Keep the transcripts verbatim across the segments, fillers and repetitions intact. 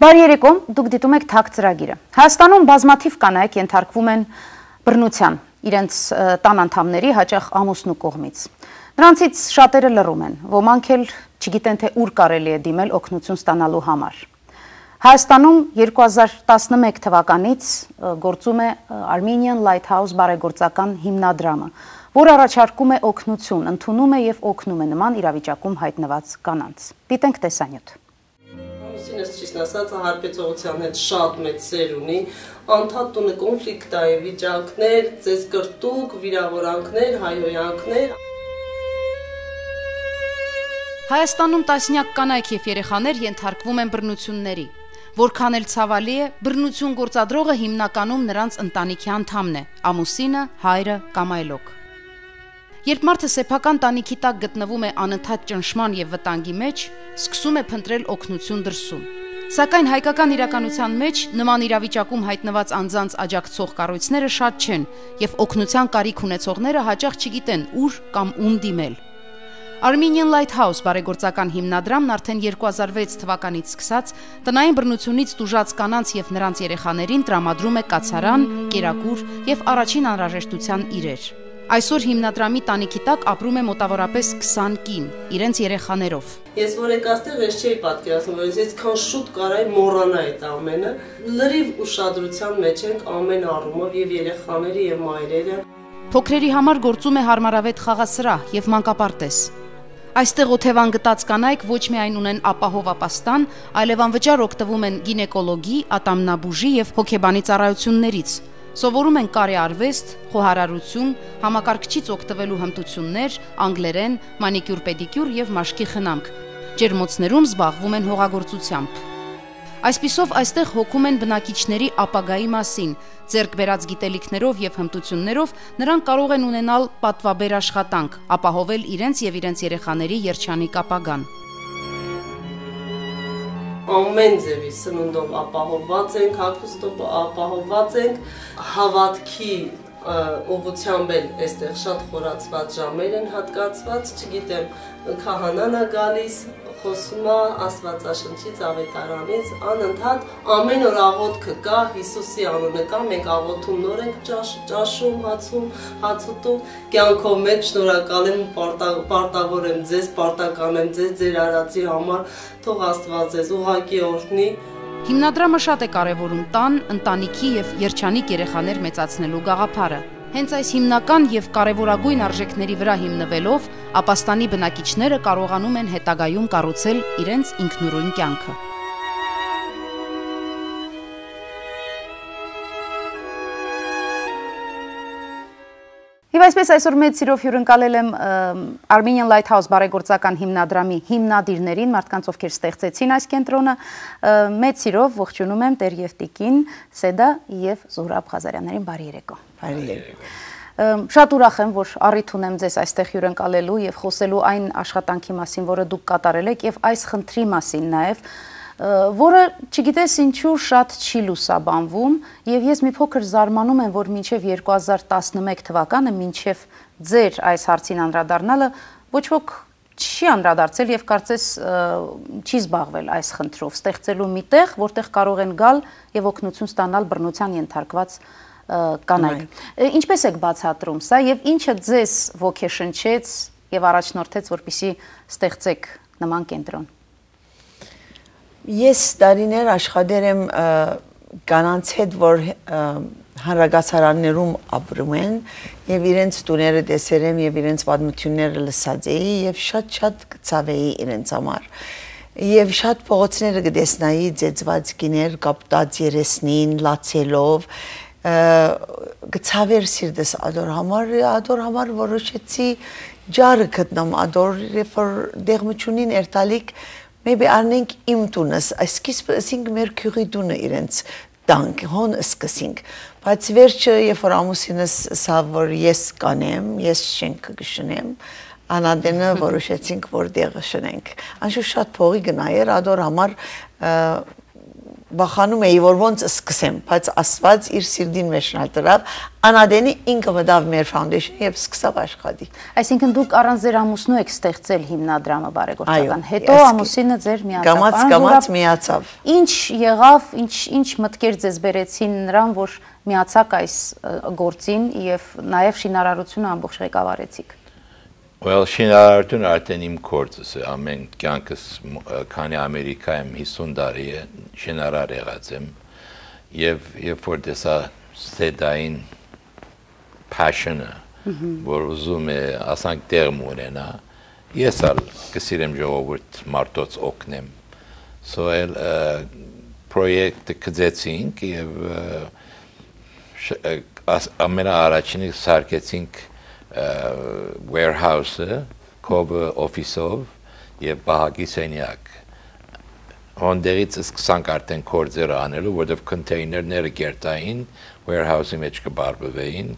Բարի երեկո, դուք դիտում եք Թակ ծրագիրը։ Հայաստանում բազմաթիվ կանայք ենթարկվում են բռնության իրենց տան անդամների, հաճախ ամուսնու կողմից։ Նրանցից շատերը լռում են, ոմանք էլ չգիտեն թե ուր կարելի է դիմել օգնություն ստանալու համար։ Հայաստանում երկու հազար տասնմեկ թվականից գործում է Armenian Lighthouse բարեգործական հիմնադրամը, որ առաջարկում է օգնություն, ընդունում է եւ օգնում է նման իրավիճակում հայտնված կանանց։ Դիտենք տեսանյութ։ Ամուսինս ճիշտ ասած հարբեցողության հետ շատ մեծ սեր ունի, անդադ տունը կոնֆլիկտ է, վիճակներ, ծես կրտուկ, վիրավորանքներ, հայհոյանքներ։ Հայաստանում տասնյակ կանայք եւ երեխաներ ենթարկվում են բռնությունների։ Որքան էլ ցավալի է, բռնություն գործադրողը հիմնականում նրանց ընտանիքի անդամն է, ամուսինը, հայրը կամ այլոք։ Երբ մարդը սեփական տանիքի տակ գտնվում է անընդհատ ճնշման եւ վտանգի մեջ, սկսում է փնտրել օգնություն դրսում։ Սակայն հայկական իրականության մեջ նման իրավիճակում հայտնված անձանց աջակցող կառույցները շատ չեն եւ օգնության կարիք ունեցողները հաճախ չգիտեն ուր կամ ում դիմել։ Armenian Lighthouse բարեգործական հիմնադրամն արդեն երկու հազար վեց թվականից սկսած տնային բռնությունից տուժած կանանց եւ նրանց երեխաներին տրամադրում է կացարան, կերակուր եւ առաջին անհրաժեշտության իրեր։ Այսօր հիմնադրամի տանիքի տակ ապրում է մոտավորապես քսան կին, իրենց երեխաներով։ Ես որ եկաստեղ ես չէի պատկերացնում, որ ես քան շուտ կարայի մոռանա այդ ամենը։ Լրիվ ուշադրության մեջ ենք ամեն առումով եւ երեխաները եւ մայրերը։ Փոքրերի համար գործում է հարմարավետ խաղասրահ եւ մանկապարտեզ։ Այստեղ օթևան գտած կանայք ոչ միայն ունեն ապահով ապաստան, այլև անվճար օգտվում են գինեկոլոգի, ատամնաբուժի եւ հոգեբանի ծառայություններից։ Սովորում են կարեարվեստ, խոհարարություն, համակարգչից օգտվելու հմտություններ, անգլերեն, մանիկյուր-պեդիկյուր եւ մաշկի խնամք։ Ջերմոցներում զբաղվում են հողագործությամբ։ Այսպիսով այստեղ հոգում են բնակիչների ապագայի մասին, ձեռք բերած գիտելիքներով եւ հմտություններով նրանք կարող են ունենալ պատվաբեր աշխատանք, ապահովել իրենց եւ իրենց երեխաների երջանիկ ապագան։ Ամեն ձևի սնունդով ապահովված ենք, հագուստով ապահովված ենք, հավատքի ուղղությամբ էլ այստեղ շատ խորացված ժամեր են հատկացված, չգիտեմ, քահանան է գալիս, խոսում է Աստվածաշնչից, ավետարանից, անընդհատ ամեն օր աղոթքը կա, Հիսուսի անունը կա, մենք աղոթում նոր ենք ճաշում, հացում, հաց ուտում, կյանքով մեծ շնորհակալ եմ, պարտավոր եմ ձեզ, պարտական եմ ձեզ, ձեր արածի համար, թող Աստված ձեզ ուղղակի օրհնի։ Հիմնադրամը շատ է կարևորում տան, ընտանիքի եւ երջանիկ երեխաներ մեծացնելու գաղափարը։ Հենց այս հիմնական եւ կարևորագույն արժեքների վրա հիմնվելով, ապաստանի բնակիչները կարողանում են հետագայում կառուցել իրենց ինքնուրույն կյանքը։ Եվ այսպես այսօր մեծ սիրով հյուրընկալել եմ Armenian Lighthouse բարեգործական հիմնադրամի հիմնադիրներին, մարդկանց ովքեր ստեղծեցին այս կենտրոնը, մեծ սիրով ողջունում եմ Տեր եւ Տիկին Սեդա եւ Զուհրաբ Ղազարյաններին, բարի երեկո։ Բարի երեկո։ Շատ ուրախ եմ, որ առիթ ունեմ ձեզ այստեղ հյուրընկալելու եւ խոսելու այն աշխատանքի մասին, որը դուք կատարել եք եւ այս խնդրի մասին նաեւ, որը չգիտես ինչու շատ չի լուսաբանվում եւ ես մի փոքր զարմանում եմ, որ մինչեւ երկու հազար տասնմեկ թվականը, մինչեւ ձեր այս հարցին անդրադառնալը ոչ ոք չի անդրադարձել եւ կարծես չի զբաղվել այս խնդրով, ստեղծելու մի տեղ, որտեղ կարող են գալ եւ օգնություն ստանալ բռնության ենթարկված կանայք։ Ինչպես եք բացատրում սա եւ ինչը ձեզ ոգեշնչեց եւ առաջնորդեց, որպեսզի ստեղծեք նման կենտրոն։ Ես տարիներ աշխատել եմ կանանց հետ, որ հանրագասարաններում ապրում են եւ իրենց տուները տեսել եմ եւ իրենց պատմությունները լսած էի եւ շատ-շատ կցավեի իրենց համար։ Եվ շատ փողոցները կտեսնայի ծեծված կիներ կապտած երեսնին, լացելով, կցավեր սիրտս ադոր համար, ադոր համար որոշեցի ջարը գտնամ ադոր, երբ որ դեղմությունին երթալիք Maybe arnենք իմ տունս, այսքիսպ ասինք մեր քյուրի տունը իրենց տանք, հոն սկսինք, բայց վերջը, երբ որ ամուսինս սա, որ ես կանեմ, ես շենքը կշնեմ, անադենը որոշեցինք, որ դեղը շնենք։ Անշուշտ շատ փողի գնայր, ադոր համար վախանում էի, որ ոնց սկսեմ, բայց Աստված իր սիրտին մեջ նալտրավ, անադենի ինքը մտավ մեր foundation եւ սկսավ աշխատի։ Այսինքն դուք առանց ձեր ամուսնու եք ստեղծել հիմնադրամը բարեգործական։ Հետո ամուսինը ձեր միացավ։ Կամաց-կամաց միացավ։ Ինչ եղավ, ինչ ինչ մտքեր ձեզ բերեցին նրան, որ միացաք այս գործին եւ նաեւ շինարարությունը ամբողջ ղեկավարեցիք։ Well, շինարարությունը արդեն իմ գործս է, ամեն կյանքս քանի Ամերիկայում հիսուն տարի է շինարար եղած եմ եւ երբ որ դեսա ստեդային passion-ը, որ ուզում է ասանք դերմ ունենա, ես ալ կսիրեմ ժողովուրդ մարդոց օգնեմ։ So էլ պրոյեկտը կձեցինք եւ ամենաառաջինը սարքեցինք warehouse-ը, կոբը օֆիսով եւ բահագի սենյակ։ Հոնդերից սկսանք արդեն կորձերը անելու, որտեղ կոնտեյներները գերտային, warehouse-ի մեջ կբարբվեին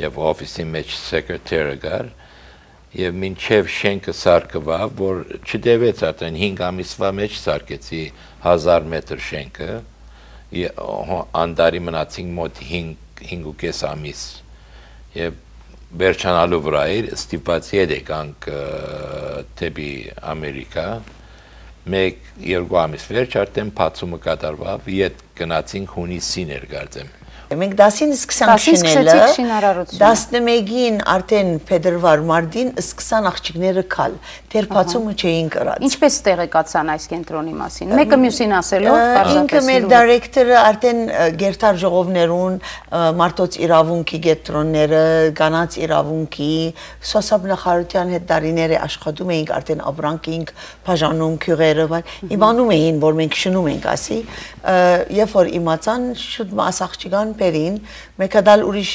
եւ օֆիսի մեջ սեկրետարը գար եւ մինչեւ շենքը սարքվավ, որ չդեվեց արդեն հինգ ամիսվա մեջ սարքեցի հազար մետր շենքը, անդարի մնացին մոտ հինգ ու կես ամիս եւ վերջանալու վրա էր ստիպված եկանք դեպի Ամերիկա մեկ երկու ամիս վերջ արդեն բացումը կատարվավ ետ գնացինք հունիսին էր կարծեմ Մենք դասին սկսանք շինելը, տասնմեկին արդեն փետրվար մարտին սկսան աղջիկները քալ, դեռ բացումը չէին կրած։ Ինչպես տեղեկացան այս կենտրոնի մասին։ Մեկը մյուսին ասելով, ինքը մեր դիրեկտորը արդեն գերտար ժողովներուն, մարդոց իրավունքի կենտրոնները, կանանց իրավունքի, սոցիալ հետ դարիները աշխատում էինք արդեն ապրանք էինք բաժանում քյուղերը, իմանում էին, որ մենք շնում ենք, ասի, երբ որ իմացան շուտ մաս աղջիկան Պերին, մեկ դալ ուրիշ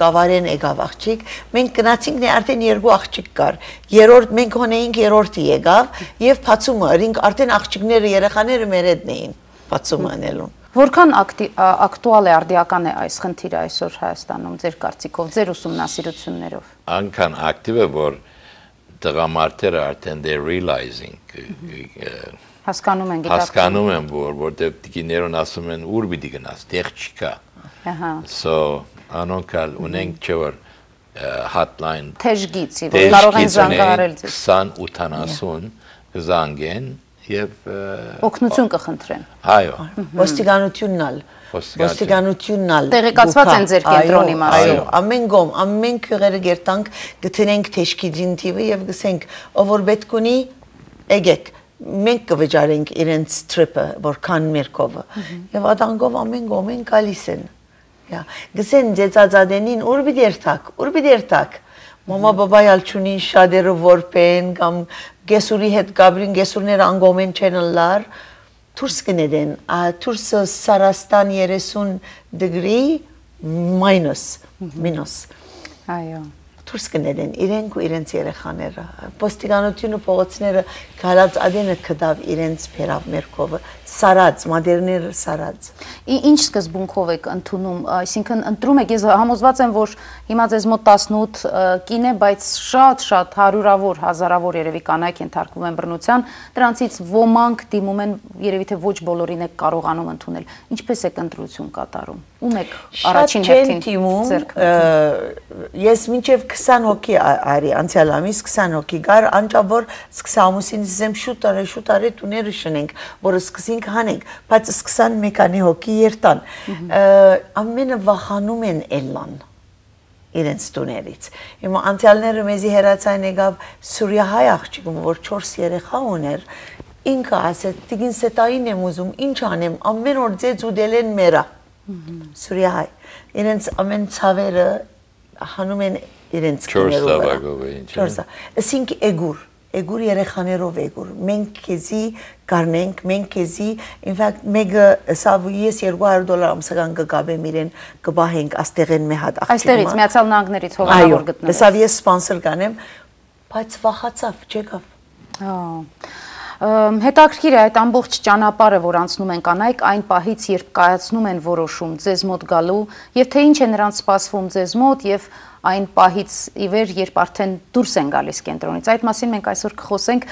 կավարեն եկավ աղջիկ, մենք գնացինք նե արդեն երկու աղջիկ կար, երորդ մենք հոնեինք երորդի եկավ եւ բացումը ըրինք արդեն աղջիկները երեխաները մեր հետն էին բացումը անելուն։ Որքան ակտուալ է արդիական է այս խնդիրը այսօր Հայաստանում ձեր կարծիքով, ձեր ուսումնասիրություններով։ Անքան ակտիվ է, որ տղամարդերը արդեն they realizing հասկանում են հասկանում են, որ որտեղ դիներուն ասում են ուր պիտի գնաս, տեղ չկա։ Ահա։ So անոնքալ ունենք չէ որ hotline թեժգից, որ կարող են զանգահարել ձեզ։ քսան ութանասուն զանգեն եւ օգնություն կխնդրեն։ Այո։ Ոստիկանությունն ալ Ոստիկանությունն ալ տեղեկացված են ձեր կենտրոնի մասին։ Այո, ամեն գոմ, ամեն քյուղերը գերտանք գտնենք թեժգիջին տիվը եւ գսենք, ով որ պետք ունի, եկեք մենք կվճարենք իրենց տրիպը, որքան մերկովը, և ադանգով ամեն գոմեն կալիս են, գսեն ձեծածադենին ուր բիդերթակ, ուր բիդերթակ, մոմա բաբայալ չունին շադերը որպեն, կամ գեսուրի հետ գաբրին գեսուրներ անգոմեն չենլար, թուրս կնեդեն, թուրսը Սարաստան երեսուն դգրի, մայնոս, մինոս, այո, թուրս կնեդեն, իրենք ու իրենց երեխաները, ոստիկանությունը փողոցները գալած ադենը կդավ իրենց փերավ մերկովը, սարած, մադերները սարած։ Ինչ սկզբունքով եք ընդունում, այսինքն ընտրում եք, ես համոզված եմ, որ հիմա ձեզ մոտ տասնութ կին է, բայց շատ-շատ հարյուրավոր, հազարավոր երևի կանայք ենթարկվում են բռնության, դրանցից ոմանք դիմում են, երևի թե ոչ բոլորին եք կարողանում ընդունել։ Ինչպես եք ընտրություն կատարում։ Ում եք առաջին հերթին ձեռք բերում։ Ես մինչև քսան հոգի արի, անցյալ ամիս քսան հոգի գար, անջավ որ սկսա ամուսինս զեմ շուտ արի, շուտ արի տուները շնենք, որ սկսենք հանենք, բայց սկսան մեկանի հոգի երտան, ամենը վախանում են էլլան իրենց տուներից, հիմա անցյալները մեզի հերացայն եկավ Սուրիահայ աղջիկում, որ չորս երեխա ուներ, ինքը ասեց, տիգին սետային եմ ուզում, ինչ անեմ, ամեն օր ձեզ ուդել են մերա, Սուրիահայ, իրենց ամեն ցավերը հանում են իրենց կիներով, ասինք էգուր, էգուր երեխաներով էգուր, մենք կեզի կարնենք, մենք կեզի, in fact, մեկը սավ ես երկու հարյուր դոլար ամսական կգաբեմ իրեն կբահենք աստեղեն մի հատ աղջիկը։ Այստեղից Միացյալ Նահանգներից հովանավոր գտնվեց։ Սավ ես սպոնսոր կանեմ, բայց վախացավ, չեկավ։ Հետաքրքիր է այդ ամբողջ ճանապարհը, որ անցնում են կանայք, այն պահից, երբ կայացնում են որոշում ձեզ մոտ գալու, եւ թե ինչ է նրանց սպասվում ձեզ մոտ եւ այն պահից ի վեր, երբ արդեն դուրս են գալիս կենտրոնից։ Այդ մասին մենք այսօր կխոսենք։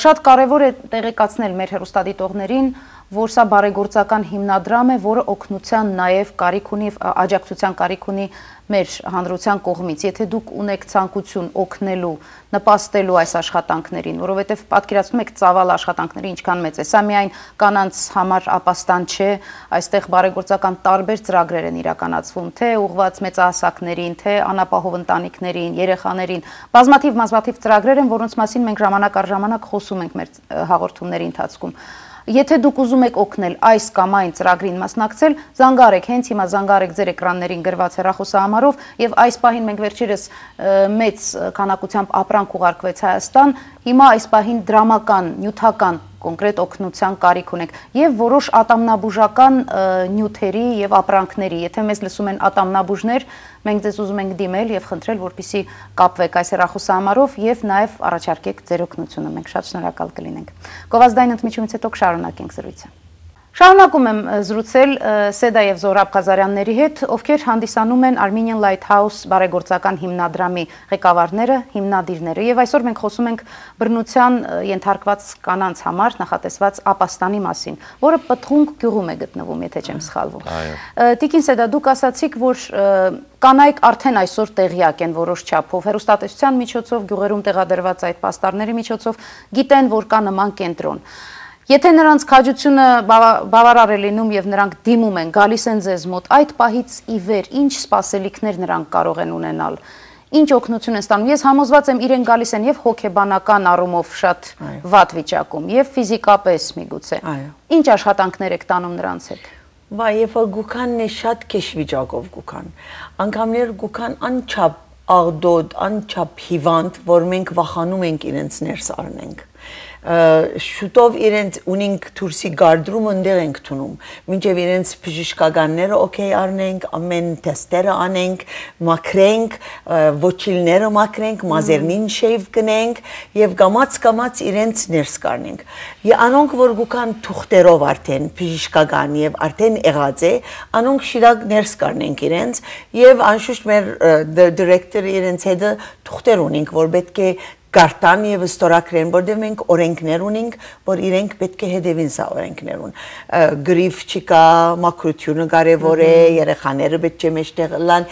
Շատ կարևոր է տեղեկացնել մեր հեռուստադիտողներին, որ սա բարեգործական հիմնադրամ է, որը օգնության նաև կարիք ունի, աջակցության կարիք ունի մեր հանրության կողմից, եթե դուք ունեք ցանկություն օգնելու, նպաստելու այս աշխատանքներին, որովհետև պատկերացնում եք ծավալ աշխատանքների ինչքան մեծ է, սա միայն կանանց համար ապաստան չէ, այստեղ բարեգործական տարբեր ծրագրեր են իրականացվում, թե ուղղված մեծահասակներին, թե անապահով ընտանիքներին, երեխաներին, բազմաթիվ բազմաթիվ ծրագրեր են, որոնց մասին մենք ժամանակ առ ժամանակ խոսում ենք մեր հաղորդումների ընթացքում։ Եթե դուք ուզում եք օգնել այս կամ այն ծրագրին մասնակցել, զանգարեք, հենց հիմա զանգարեք ձեր էկրաններին գրված հեռախոսահամարով եւ այս պահին մենք վերջերս մեծ քանակությամբ ապրանք ուղարկվեց Հայաստան, հիմա այս պահին դրամական, նյութական կոնկրետ օգնության կարիք ունենք եւ որոշ ատամնաբուժական նյութերի եւ ապրանքների, եթե մեզ լսում են ատամնաբուժներ, մենք ձեզ ուզում ենք դիմել եւ խնդրել, որպեսզի կապվեք այս հեռախոսահամարով եւ նաեւ առաջարկեք ձեր օգնությունը, մենք շատ շնորհակալ կլինենք։ Գովազդային ընդմիջումից հետո կշարունակենք զրույցը։ Շարունակում եմ զրուցել Սեդա եւ Զոհրաբ Ղազարյանների հետ, ովքեր հանդիսանում են Armenian Lighthouse բարեգործական հիմնադրամի ղեկավարները, հիմնադիրները եւ այսօր մենք խոսում ենք բռնության ենթարկված կանանց համար նախատեսված ապաստանի մասին, որը Պտղունք գյուղում է գտնվում, եթե չեմ սխալվում։ Տիկին Սեդա, դուք ասացիք, որ կանայք արդեն այսօր տեղյակ են որոշ չափով հեռուստատեսության միջոցով, գյուղերում տեղադրված այդ պաստառների միջոցով գիտեն, որ կա նման կենտրոն։ Եթե նրանց քաջությունը բավարար է լինում եւ նրանք դիմում են, գալիս են ձեզ մոտ, այդ պահից ի վեր ինչ սպասելիքներ նրանք կարող են ունենալ, ինչ օգնություն են ստանում։ Ես համոզված եմ, իրեն գալիս են եւ հոգեբանական առումով շատ վատ վիճակում, եւ ֆիզիկապես միգուցե։ Ինչ աշխատանքներ եք տանում նրանց հետ։ Վայ, երբ որ գուքանն է շատ քեշ վիճակով գուքան, անգամներ գուքան անչափ աղդոդ, անչափ հիվանդ, որ մենք վախանում ենք իրենց ներս առնենք։ Շուտով իրենց ունենք դուրսի գարդրում ընդեղ ենք տունում, մինչև իրենց բժշկականները օքեյ առնենք, ամեն թեստերը անենք, մաքրենք, ոչիլները մաքրենք, մազերնին շեյվ կնենք եւ գամած-գամած իրենց ներս կառնենք։ Անոնք որ գուքան թուղթերով արդեն բժշկական եւ արդեն եղած է, անոնք շիրակ ներս կառնենք իրենց եւ անշուշտ մեր դիրեկտորը իրենց հետ թուղթեր ունենք, որ պետք է Գարտան եւ ստորակրեն, որտեղ մենք օրենքներ ունենք, որ իրենք պետք է հետևին սա օրենքներուն։ Գրիֆ չկա, մաքրությունը կարևոր է, երեխաները պետք է մեջտեղ լան,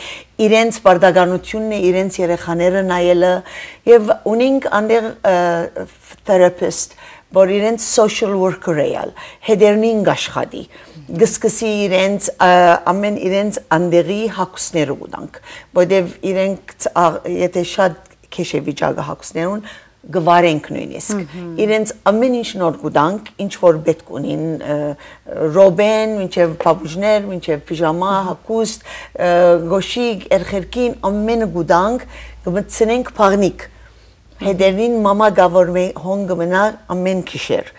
իրենց բարդականությունն է, իրենց երեխաները նայելը եւ ունենք անդեղ therapist, որ իրենց social worker էալ, հետերնին աշխատի։ Գսկսի իրենց ամեն իրենց անդեղի հակուսները ունենք, որտեղ իրենք եթե շատ քեշե վիճակը հակուսներուն գվարենք նույնիսկ իրենց ամեն ինչ նոր գուտանք ինչ որ պետք ունին ռոբեն մինչև պապուժներ մինչև պիժամա հակուստ գոշիկ երխերքին ամեն գուտանք գմցնենք փաղնիկ հետերին մամա գավոր հոնգ մնա ամեն քիշեր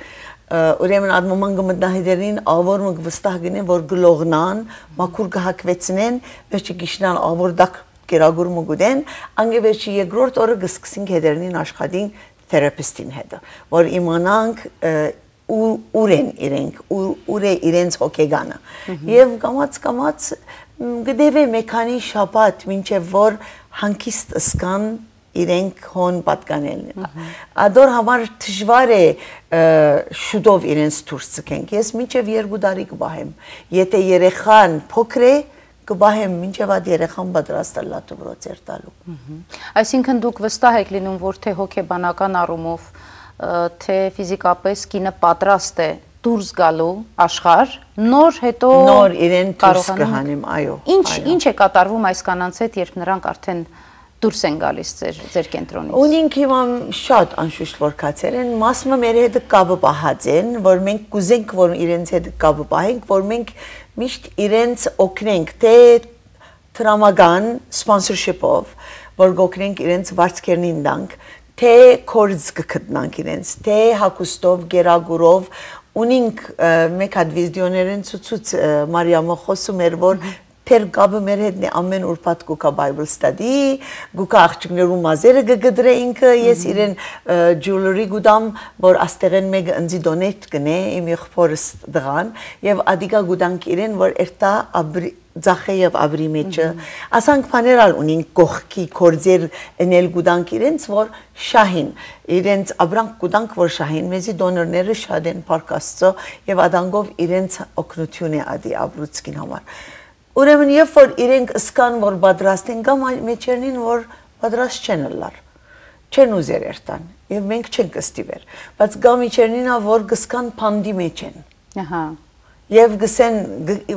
ուրեմն այդ մաման գմտնա հետերին ավոր մգ վստահ գնեն որ գլողնան մաքուր գահակվեցնեն վերջի գիշնան ավոր դակ Կերագուրը գուդեն, անգևերջի երկրորդ օրը գսկսինք հետերնին աշխատին թերապիստին հետը, որ իմանանք ուր են իրենք, ուր է իրենց հոգեգանը։ Եվ կամաց-կամաց գդև է մեկանի շապատ, մինչև որ հանքիստ ըսկան իրենք հոն պատկանելն։ Ադոր համար թժվար է շուտով իրենց դուրս ցկենք։ Ես մինչև երկու տարի կբահեմ։ Եթե երեխան փոքր է, կբահեմ մինչև այդ երեխան պատրաստ է լատուբրոց երտալու։ Այսինքն դուք վստահ եք լինում, որ թե հոգեբանական առումով, թե ֆիզիկապես կինը պատրաստ է դուրս գալու աշխարհ, նոր հետո նոր իրեն դուրս կհանեմ, այո։ Ինչ ինչ է կատարվում այս կանանց հետ, երբ նրանք արդեն դուրս են գալիս ձեր ձեր կենտրոնից։ Ունենք հիմա շատ անշուշտ որ կացել են, մասը մեր հետ կապը պահած են, որ մենք կուզենք որ իրենց հետ կապը պահենք, որ մենք միշտ իրենց օգնենք թե տրամական սպոնսորշիփով, որ գոքնենք իրենց վարձքերնին դանք, թե կորձ կգտնանք իրենց, թե հակուստով, գերագուրով, ունենք մեկ հատ վիդեոներն ցուցուց Մարիամը խոսում էր որ Թեր գաբը մեր հետն է ամեն ուրբաթ գուկա Bible study, գուկա աղջիկներու մազերը գգդրե ինքը, ես իրեն jewelry գուդամ, որ աստեղեն մեգ ընձի դոնետ գնե, իմ եղբորս դղան, եւ ադիգա գուդանք իրեն, որ երտա ձախե եւ աբրի մեջը, ասանք բաներալ ունին կողքի կորձեր էնել գուդանք իրենց, որ շահին, իրենց աբրանք գուդանք, որ շահին, մեզի դոնորները շատ են պարկաստո եւ ադանգով իրենց օգնություն է ադի աբրուցկին համար։ Ուրեմն երբ որ իրենք ըսկան, որ պատրաստ են, կամ մեջերնին, որ պատրաստ չեն լար, չեն ուզեր երտան, եւ մենք չենք ստիվեր, բայց կամ իջերնինա, որ գսկան պանդի մեջ են, եւ գսեն,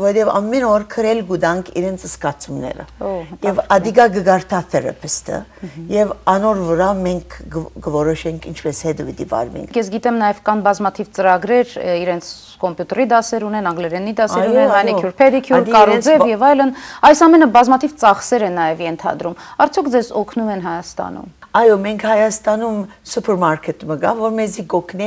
որև ամեն օր քրել գուդանք իրենց ըսկացումները, եւ ադիգա գգարտա թերապիստը, եւ անոր վրա մենք գորոշենք ինչպես հետը վիդի վարվենք։ Ես գիտեմ նաեւ կան բազմաթիվ ծրագրեր իրենց կոմպյուտերի դասեր ունեն, անգլերենի դասեր ունեն, manicure, pedicure, կարոձև եւ այլն, այս ամենը բազմաթիվ ծախսեր են նաեւ ենթադրում։ Արդյոք ձեզ օգնում են Հայաստանում։ Այո, մենք Հայաստանում սուպերմարկետ մգա, որ մեզի գոքնե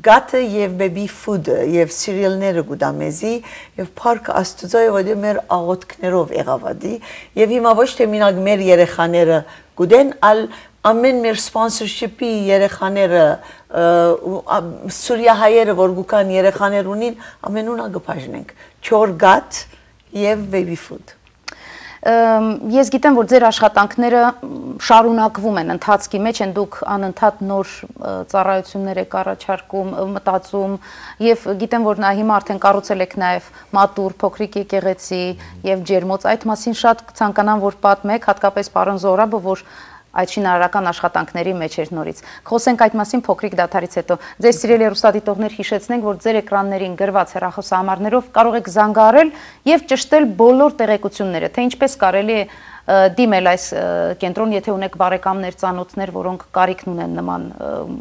գաթը եւ baby food-ը եւ սիրիալները գուտա մեզի եւ փառք Աստծո եւ մեր աղոթքներով եղավադի եւ հիմա ոչ թե մինակ մեր երեխաները գուտեն, ալ ամեն մեր սպոնսորշիպի երեխաները Սուրիա հայերը որ գուկան երեխաներ ունին ամենունա գփաժնենք չոր գաթ եւ baby food։ Ես գիտեմ, որ ձեր աշխատանքները շարունակվում են, ընթացքի մեջ են, դուք անընդհատ նոր ծառայություններ եք առաջարկում, մտածում եւ գիտեմ, որ նա հիմա արդեն կառուցել եք նաեւ մատուր, փոքրիկ եկեղեցի եւ ջերմոց, այդ մասին շատ ցանկանամ, որ պատմեք, հատկապես պարոն Զորաբը, որ այդ շինարարական աշխատանքների մեջ էր նորից։ Խոսենք այդ մասին փոքրիկ դադարից հետո։ Ձեզ սիրելի հեռուստադիտողներ հիշեցնենք, որ ձեր էկրաններին գրված հեռախոսահամարներով կարող եք զանգահարել եւ ճշտել բոլոր տեղեկությունները, թե ինչպես կարելի է դիմել այս կենտրոն, եթե ունեք բարեկամներ, ծանոթներ, որոնք կարիքն ունեն նման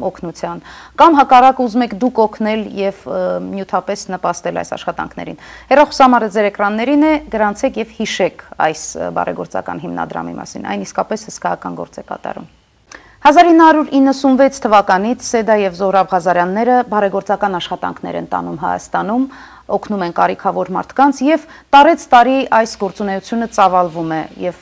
օգնության, կամ հակառակ ուզում եք դուք օգնել եւ նյութապես նպաստել այս աշխատանքներին։ Հեռախոսահամարը ձեր էկրաններին է, գրանցեք եւ հիշեք այս բարեգործական հիմնադրամի մասին, այն իսկապես հսկայական գործ է կատարում։ հազար ինը հարյուր իննսունվեց թվականից Սեդա եւ Զոհրաբ Ղազարյանները բարեգործական աշխատանքներ են տանում Հայաստանում, օգնում են կարիքավոր մարդկանց եւ տարեց տարի այս գործունեությունը ծավալվում է եւ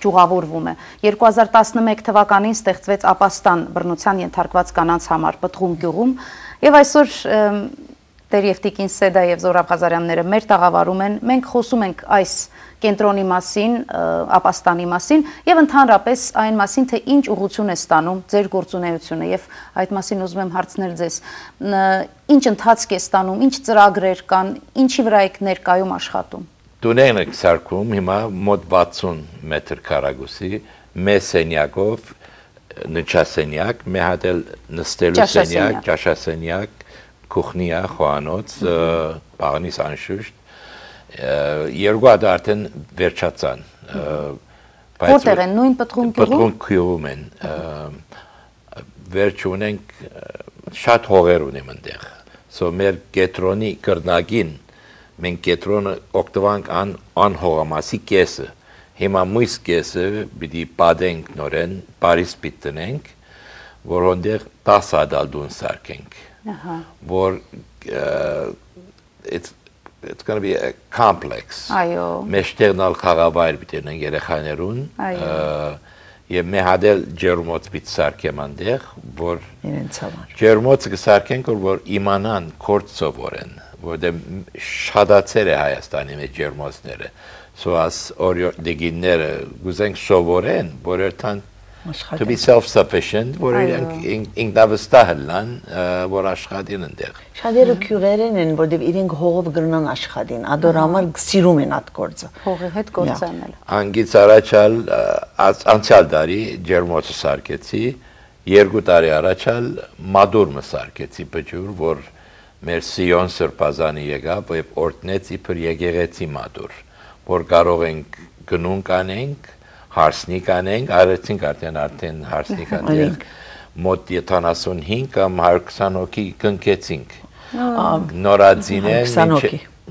ճյուղավորվում է։ երկու հազար տասնմեկ թվականին ստեղծվեց Ապաստան բռնության ենթարկված կանանց համար Պտղում գյուղում եւ այսօր Տեր եւ Տիկին Սեդա եւ Զոհրաբ Ղազարյանները մեր տաղավարում են, մենք խոսում ենք այս կենտրոնի մասին, Ապաստանի մասին եւ ընդհանրապես այն մասին, թե ինչ ուղղություն է ստանում ձեր գործունեությունը եւ այդ մասին ուզում եմ հարցնել ձեզ, ինչ ընթացք է ստանում, ինչ ծրագրեր կան, ինչի վրա եք ներկայում աշխատում։ Տուներն եք սարքում հիմա մոտ վաթսուն մետր քառակուսի, մեծ սենյակով, նճասենյակ, մի հատ էլ նստելու սենյակ, ճաշասենյակ, քուխնիա, խոհանոց, բաղնիս անշուշտ երկու հատ արդեն վերջացան։ Որտեղ են, նույն Պտղում գյուղում։ Պտղում գյուղում են։ Վերջ ունենք շատ հողեր ունեմ այնտեղ։ Սո մեր կետրոնի կրնագին մենք կետրոնը օգտվանք ան անհողամասի կեսը։ Հիմա մույս կեսը պիտի պատենք նորեն, Փարիզ պիտի տնենք, որ այնտեղ տասը հատ դուն սարքենք։ Որ it's it's going to be a complex. Այո։ Մեջտեղնալ խաղավայր պիտի ունեն երեխաներուն, եւ մի հատ էլ ջերմոց պիտի սարքեմ այնտեղ, որ իրենց համար։ Ջերմոցը կսարքենք, որ իմանան կորց սովորեն, որտեղ շատացել է Հայաստանի մեջ ջերմոցները։ So as օրիորդիները գուզենք սովորեն, որ երթան to be self-sufficient, որ ինքնավստահ լան, որ աշխատին ընդեղ։ Շատերը քյուրերեն են, որտեղ իրենք հողով գրնան աշխատին, ադոր համար սիրում են այդ գործը։ Հողի հետ գործ անել։ Անգից առաջալ անցյալ տարի ջերմոցը սարքեցի, երկու տարի առաջալ մադուրը սարքեցի բջուր, որ մեր Սիոն Սրբազանի եկավ եւ օրտնեց իբր եկեղեցի մադուր, որ կարող ենք գնուն կանենք հարսնիկ անենք, արեցինք արդեն արդեն հարսնիկ անենք, մոտ յոթանասունհինգ կամ հարյուր քսան հոգի կնքեցինք,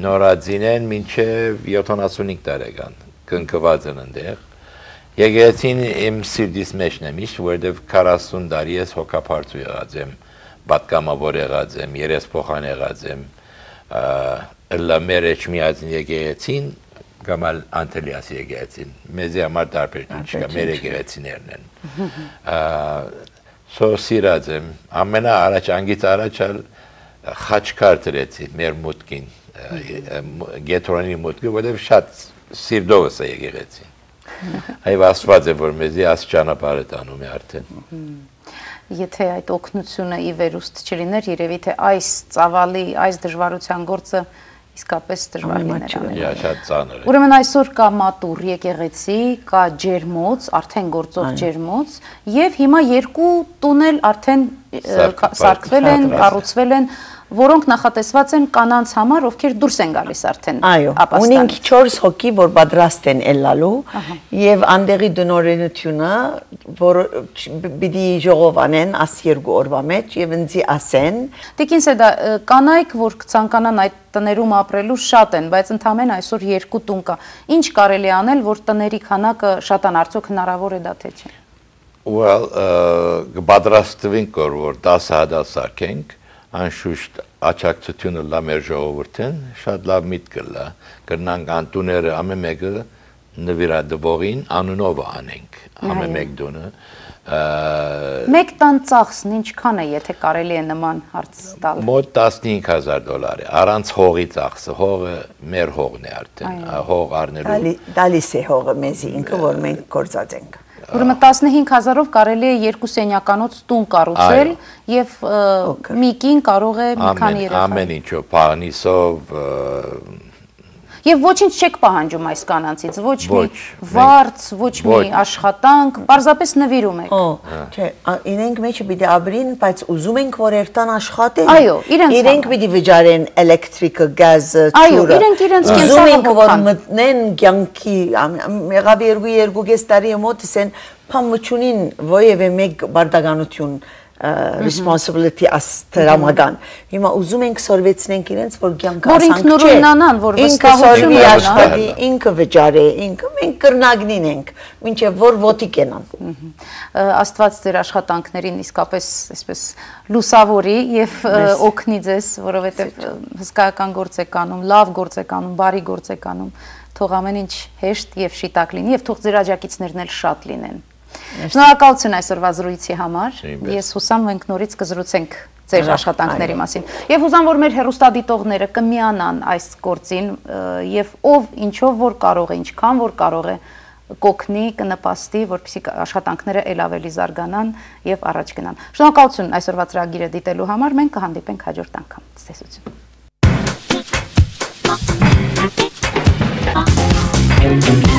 նորածին են մինչև յոթանասունհինգ տարեկան, կնքված են ընդեղ, եկեղեցին իմ սիրտիս մեջն է միշտ, որովհետև քառասուն տարի ես հոգապարծու եղած եմ, պատգամավոր եղած եմ, երեսփոխան եղած եմ, ըլլա մեր էջմիածին եկեղեցին, կամ Անտելիասի եկեղեցին։ Մեզի համար տարբերություն չկա, մեր եկեղեցիներն են։ Սո սիրած եմ, ամենա առաջ անգից առաջ խաչքար դրեցի մեր մուտքին, Գեթորոնի մուտքը, որտեղ շատ սիրտովս է եկեղեցին։ Այո, Աստված է, որ մեզի աս ճանապարհը տանում է արդեն։ Եթե այդ օգնությունը ի վերուստ չլիներ, երևի թե այս ծավալի, այս դժվարության գործը իսկապես դժվար լիներ անել։ Շատ ծանր է։ Ուրեմն այսօր կա մատուռ եկեղեցի, կա ջերմոց, արդեն գործող ջերմոց, եւ հիմա երկու տուն էլ արդեն սարքվել են, կառուցվել են, որոնք նախատեսված են կանանց համար, ովքեր դուրս են գալիս արդեն ապաստանից։ Այո, ունենք չորս հոգի, որ պատրաստ են ելալու, եւ անդեղի դնորենությունը, որ պիտի ժողովանեն աս երկու օրվա մեջ եւ ինձի ասեն։ Տիկին Սեդա, կանայք, որ կցանկանան այդ տներում ապրելու շատ են, բայց ընդամենը այսօր երկու տուն կա։ Ինչ կարելի անել, որ տների քանակը շատան, արդյոք հնարավոր է դա թե չէ։ Well, կպատրաստվենք, որ դասը հադալ սարքենք, անշուշտ աչակցությունը լա մեր ժողովուրդին, շատ լավ միտք կլա, կրնանք անտուները ամեն մեկը նվիրատվողին անունով անենք, ամեն մեկ դունը։ Մեկ տան ծախսն ինչքան է, եթե կարելի է նման հարց տալ։ Մոտ տասնհինգ հազար դոլար է, առանց հողի ծախսը, հողը մեր հողն է արդեն, հող առնելու։ Դալիս է հողը մեզի ինքը, որ մենք գործած ենք։ Ուրեմն տասնհինգ հազարով կարելի է երկու սենյականոց տուն կառուցել եւ մի կին կարող է մի քանի երեխա։ Ամեն ինչով, փանիսով։ Եվ ոչինչ չեք պահանջում այս կանանցից, ոչ մի վարձ, ոչ մի աշխատանք, պարզապես նվիրում եք։ Չէ, իրենք մեջը պիտի ապրին, բայց ուզում ենք, որ երթան աշխատեն։ Այո, իրենք պիտի վճարեն էլեկտրիկը, գազը, ջուրը։ Այո, իրենք իրենց ուզում ենք, որ մտնեն կյանքի, եղավ երկու երկու տարի մոտ ասեն, փամուչունին ոևէ մեկ բարդականություն responsibility as տրամական։ Հիմա ուզում ենք սորվեցնենք իրենց, որ կյանքը ասանք չէ։ Որ ինքնուրույնանան, որ վստահություն աշխատի, ինքը վճարի, ինքը մենք կրնագնին ենք, մինչև որ ոտի կենան։ Աստված ձեր աշխատանքներին իսկապես այսպես լուսավորի եւ օգնի ձեզ, որովհետեւ հսկայական գործ եք անում, լավ գործ եք անում, բարի գործ եք անում, թող ամեն ինչ հեշտ եւ շիտակ լինի եւ թող ձեր աջակիցներն էլ շատ լինեն։ Շնորհակալություն այսօրվա զրույցի համար։ Ես հուսամ մենք նորից կզրուցենք ձեր աշխատանքների մասին։ Եվ հուսամ, որ մեր հեռուստադիտողները կմիանան այս գործին եւ ով ինչով որ կարող է, ինչքան որ կարող է կօգնի, կնպաստի, որպեսզի աշխատանքները ել ավելի զարգանան եւ առաջ գնան։ Շնորհակալություն այսօրվա ծրագիրը դիտելու համար։ Մենք կհանդիպենք հաջորդ անգամ։ Ցտեսություն։